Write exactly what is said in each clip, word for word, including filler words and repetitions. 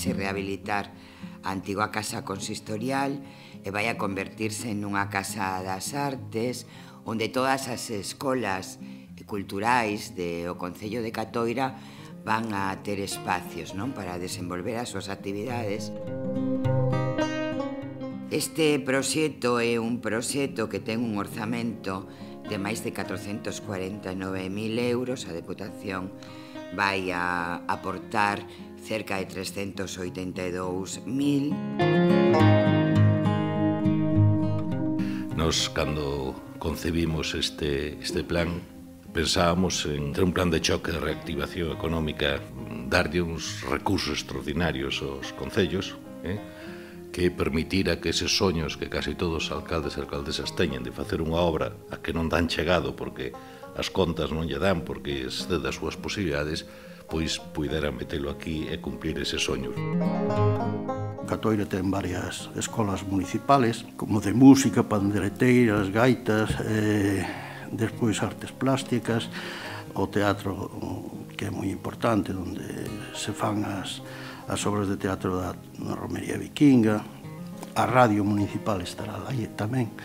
vaise rehabilitar a antiga casa consistorial e vai a convertirse nunha casa das artes onde todas as escolas culturais do Concello de Catoira van a ter espacios, non, para desenvolver as súas actividades. Este proxecto é un proxecto que ten un orzamento de máis de catrocentos cuarenta e nove mil euros. A Deputación vai a aportar cerca de trescentos oitenta e dous mil. Nos, cando concebimos este, este plan, pensábamos en ter un plan de choque de reactivación económica, darlle uns recursos extraordinarios aos concellos, eh? que permitira que eses soños que casi todos os alcaldes e alcaldesas teñen de facer unha obra a que non dan chegado porque as contas non lle dan porque excede das súas posibilidades, pois puidera metelo aquí e cumplir eses soños. Catoira ten varias escolas municipales, como de música, pandereteiras, gaitas, eh, despois artes plásticas, o teatro, que é moi importante, onde se fan as as obras de teatro da Romería Vikinga, a radio municipal estará lá tamén.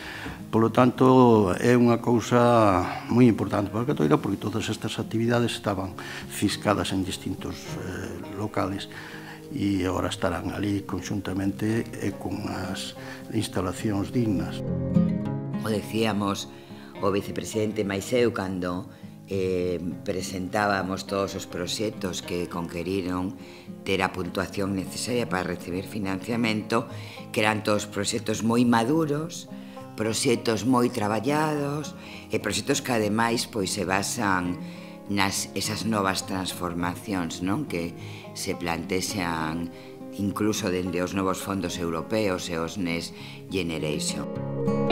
Polo tanto, é unha cousa moi importante para Catoira, porque todas estas actividades estaban fiscadas en distintos eh, locales e agora estarán ali conxuntamente e con as instalacións dignas. O decíamos o vicepresidente máis eu cando Eh, presentábamos todos os proxectos que conqueriron ter a puntuación necesaria para recibir financiamento, que eran todos proxectos moi maduros, proxectos moi traballados e proxectos que ademais pois se basan nas esas novas transformacións, non, que se plantexan incluso dende os novos fondos europeos e os Next Generation.